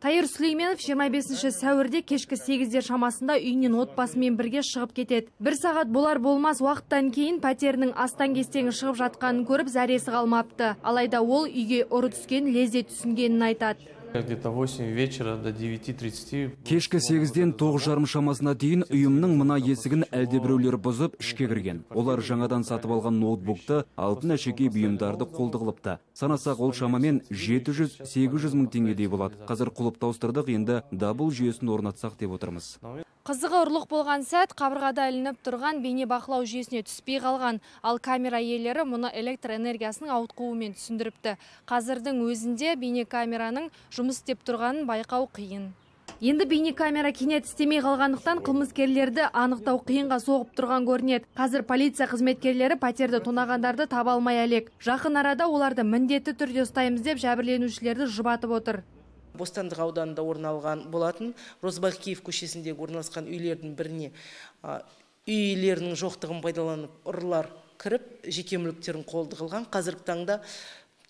Тайыр Сүлейменов 25 сәуірде кешкі 8-де шамасында үйінен отбасымен бірге шығып кетеді. Bir сағат болар болмас уақыттан кейін пәтерінің астан-кестеңі шығып жатқанын көріп зәресі қалмапты. Алайда ол үйге ұры түскен, лезде түсінгенін айтады. Где-то 8 вечера до 9:30. Кешкі 8-ден 9:30 шамасына дейін үйімнің мына есігін әлдебіреулер бұзып ішке кірген. Олар жаңадан сатып алған ноутбукты, алтын әшекей бұйымдарды қолды қылыпты. Санасақ ол шамамен 700-800 мың теңгедей болады. Қазір құлыпты ауыстырдық, енді дабыл жүйесін орнатсақ деп отырмыз. Қызығы ұрлық болған сәт қабырғада ілініп тұрған бейне бақылау жүйесіне түспей қалған, ал камера иелері мұны электр энергиясының ауытқуымен түсіндіріпті. Қазірдің өзінде бейне камераның жұмыс істеп тұрғанын байқау қиын. Енді бейне камера кенет істемей қалғандықтан қылмыскерлерді анықтау қиынға соғып тұрған көрінеді. Қазір полиция қызметкерлері пәтерді тонағандарды таба алмай әлек. Жақын арада оларды міндетті түрде ұстаймыз деп жәбірленушілерді жұбатып отыр. Бостандық ауданында орын алған болатын Розбакиев көшесіндегі орналасқан үйлердің біріне үй иелерінің жоқтығын пайдаланып ұрылар кіріп, жеке мүліктерін қолды қылған. Қазіргі таңда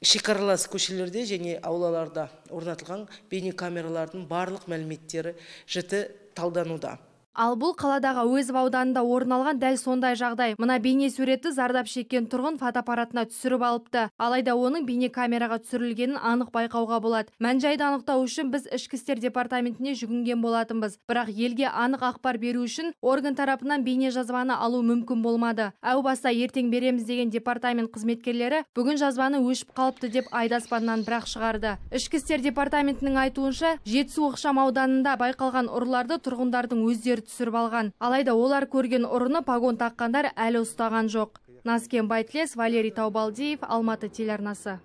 шекаралас көшелерде және аулаларда орнатылған бейне камералардың барлық мәліметтері жіті талдануда. Ал бұл қаладағы Әуезов ауданында орын алған дәл сондай жағдай. Мына бейне суретті зардап шеккен тұрғын фотоаппаратына түсіріп алыпты. Алайда оның бейне камераға түсірілгенін анық байқауға болады. Мән-жайды анықтау үшін біз Ішкі істер департаментіне жүгінген болатынбыз. Бірақ елге анық ақпар беру үшін орган тарапынан бейне жазбаны алу мүмкін болмады. Әу баста ертең береміз деген департамент қызметкерлері бүгін жазбаны өшіп қалыпты деп айдаспаннан бірақ шығарды. Ішкі істер департаментінің айтуынша, Жетісу ықшам ауданында байқалған ұрыларды тұрғындардың өздері түсіріп алған. Алайда олар көрген ұрыны погон таққандар әлі ұстаған жоқ. Назкен Байтлес, Валерий Таубалдиев, Алматы телеарнасы.